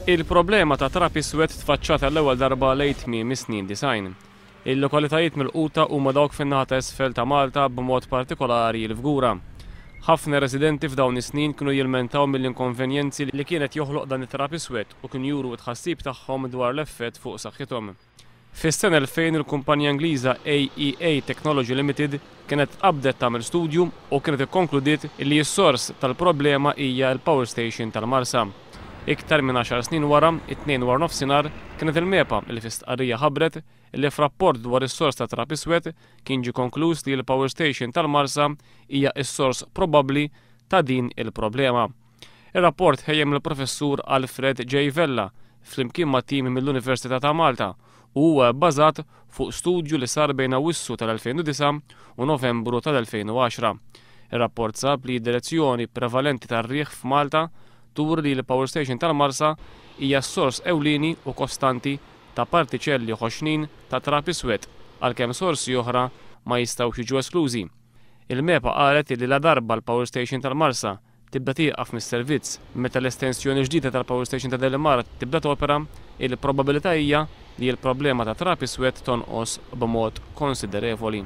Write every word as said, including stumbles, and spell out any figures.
Il-problema ta' trab iswed tfaċċat għall-ewwel darba lejn tmiem is-snin disgħin. Il-lokalitajiet milquta huma dawk fin-naħa ta' isfel ta' Malta, b'mod partikolari l-Fgura. Ħafna residenti f'dawn is-snin kienu jilmentaw mill-inkonvenjenzi li kienet joħloq dan it-trab iswed u kienu juru tħassib tagħhom dwar l-effett fuq saħħithom. Fis-sena elfejn il-kumpanija Ingliża A E A Technology Limited kienet qabdet tagħmel studju u kienet ikkonkludiet li s-sors tal-problema hija l-Power Station tal-Marsa. Iktar minn għaxar snin wara, it-Tnejn wara nofsinhar, kienet il-MEPA li fi stqarrija ħabbret li f'rapport dwar is-sors ta' trab iswed kien ġie konkluż li l-Power Station tal-Marsa hija s-sors probabbli ta' din il-problema. Ir-rapport tħejja mill-professur Alfred J. Vella flimkien ma' tim mill-Università ta' Malta u huwa bbażat fuq studju li sar bejn Awwissu tal-elfejn u disgħa u Novembru tal-elfejn u għaxra. Ir-rapport sab li d-direzzjoni prevalenti tar-riħ f'Malta turi li l-Power Station tal-Marsa hija s-sors ewlieni u kostanti ta' partiċelli ħoxnin ta' trab iswed, għalkemm sorsi oħra ma jistgħux jiġu esklużi. Il-MEPA qalet li la darba l-Power Station tal-Marsa tibda tieqaf mis-servizz meta l-estensjoni ġdida tal-Power Station ta' Delimara tibda topera, il-probabilità hija li l-problema ta' trab iswed tonqos b'mod konsiderevoli.